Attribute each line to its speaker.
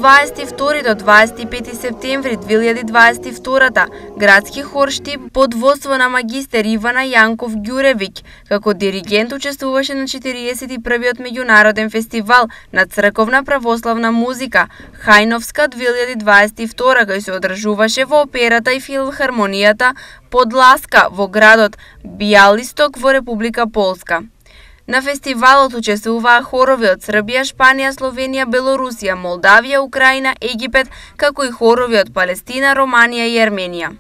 Speaker 1: 22 до 25 септември 2022 градски хор Штип под водство на магистер Ивана Јанков Ѓуревиќ како диригент учествуваше на 41-тиот меѓународен фестивал на црковна православна музика Хајновска 2022 кој се одржуваше во операта и филхармонијата Подласка во градот Бјалисток во Република Полска. На фестивалот учествуваа хорови од Србија, Шпанија, Словенија, Белорусија, Молдавија, Украина, Египет, како и хорови од Палестина, Романија и Ерменија.